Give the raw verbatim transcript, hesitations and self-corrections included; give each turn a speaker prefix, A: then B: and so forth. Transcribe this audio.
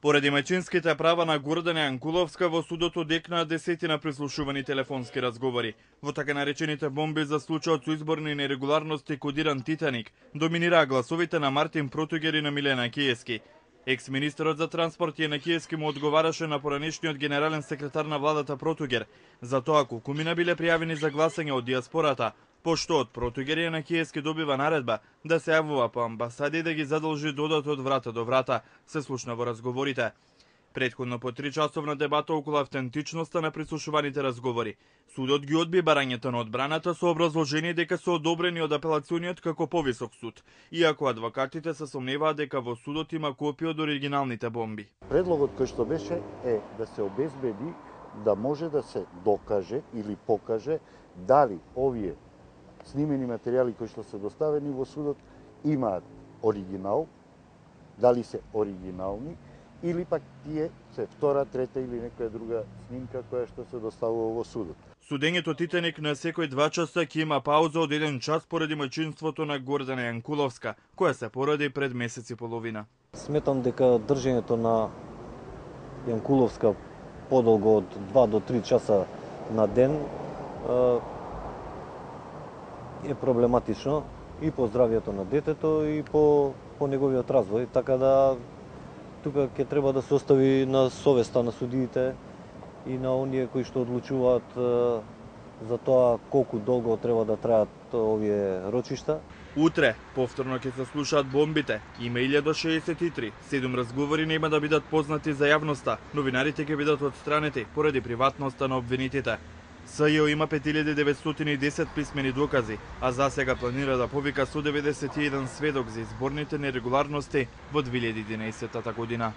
A: Поради мајчинските права на Гордана Јанкуловска во судот одекнаа десетина прислушувани телефонски разговори. Во така наречените бомби за случајот со изборни нерегуларности кодиран Титаник доминираа гласовите на Мартин Протугер и на Милена Киески. Екс-министерот за транспорт Јана Киески му одговараше на поранешниот генерален секретар на владата Протугер за тоа колкумина биле пријавени за гласање од диаспората, пошто од Протугер Јана Киески добива наредба да се јавува по амбасади и да ги задолжи додат од врата до врата, се слушна во разговорите. Претходно по три часовна дебата околу автентичноста на прислушуваните разговори. Судот ги одби барањето на одбраната со образложение дека се одобрени од апелациониот како повисок суд, иако адвокатите се сомневаат дека во судот има копија од оригиналните бомби.
B: Предлогот кој што беше е да се обезбеди да може да се докаже или покаже дали овие снимени материјали кои што се доставени во судот имаат оригинал, дали се оригинални, или пак тие се втора, трета или некоја друга снимка која што се доставува во судот.
A: Судењето Титаник на секој два часа ќе има пауза од еден час поради мајчинството на Гордана Јанкуловска, која се породи пред месец и половина.
C: Сметам дека држењето на Јанкуловска подолго од два до три часа на ден е проблематично и по здравјето на детето и по, по неговиот развој, така да тука ќе треба да се остави на совеста на судиите и на оние кои што одлучуваат за тоа колку долго треба да траат овие рочишта.
A: Утре повторно ќе се слушаат бомбите. Има илјада шеесет и три. Седум разговори нема да бидат познати за јавноста. Новинарите ќе бидат отстранети поради приватноста на обвинетите. СЈО има пет илјади деветстотини и десет писмени докази, а за сега планира да повика сто деветдесет и еден сведок за изборните нерегуларности во две илјади и единаесетта година.